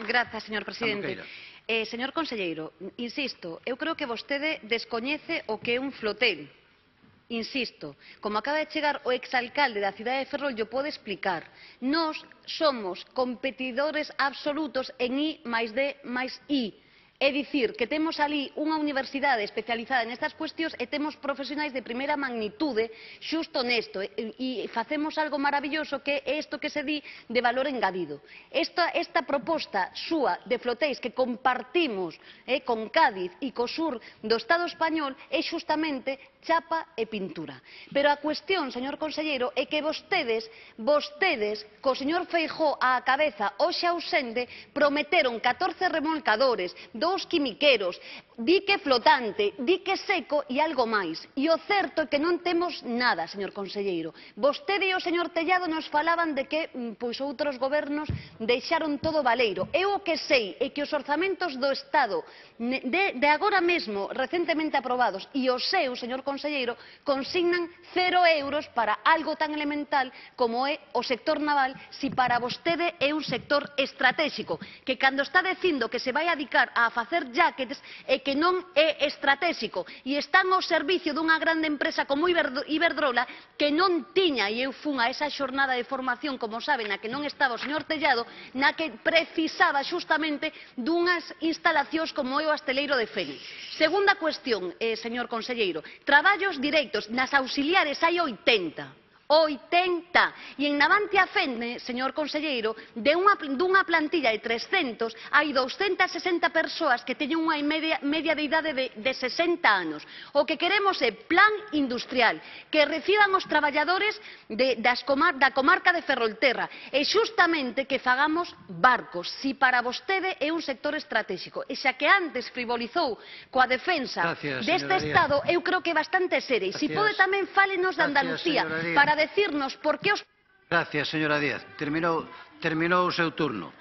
Grazas, señor presidente. Señor conselleiro, insisto, eu creo que vostede descoñece o que é un flotel. Insisto, como acaba de chegar o exalcalde da cidade de Ferrol, llo pode explicar. Nós somos competidores absolutos en I máis D máis I. É dicir, que temos ali unha universidade especializada nestas cuestións e temos profesionais de primeira magnitude xusto nesto e facemos algo maravilloso que é isto que se di de valor engadido. Esta proposta súa de flotéis que compartimos con Cádiz e co sur do Estado español é xustamente chapa e pintura. Pero a cuestión, señor conselleiro, é que vostedes, co señor Feijóo á cabeza, hoxe ausente, prometeron 14 remolcadores, 2 quimiqueros, dique flotante, dique seco e algo máis. E o certo é que non temos nada, señor conselleiro. Vostede e o señor Tellado nos falaban de que outros gobernos deixaron todo baleiro. Eu o que sei é que os orzamentos do Estado de agora mesmo, recentemente aprobados, e os seus, señor conselleiro, consignan 0 euros para algo tan elemental como é o sector naval, si para vostede é un sector estratégico, que cando está dicindo que se vai dedicar a facer jackets é que non é estratégico e están ao servicio dunha grande empresa como Iberdrola que non tiña, e eu fun a esa xornada de formación, como saben, na que non estaba o señor Tellado, na que precisaba xustamente dunhas instalacións como é o Asteleiro de Fene. Segunda cuestión, señor conselleiro, traballos directos, nas auxiliares hai 80. 80. E en Navantia Fene, señor conselleiro, dunha plantilla de 300, hai 260 persoas que teñen unha media de idade de 60 anos. O que queremos é plan industrial, que reciban os traballadores da comarca de Ferrolterra e xustamente que fagamos barcos, si para vostede é un sector estratégico. E xa que antes frivolizou coa defensa deste Estado, eu creo que é bastante seria. E si pode tamén fálenos de Andalucía, para decirnos por que os... Gracias, señora Díaz. Terminou o seu turno.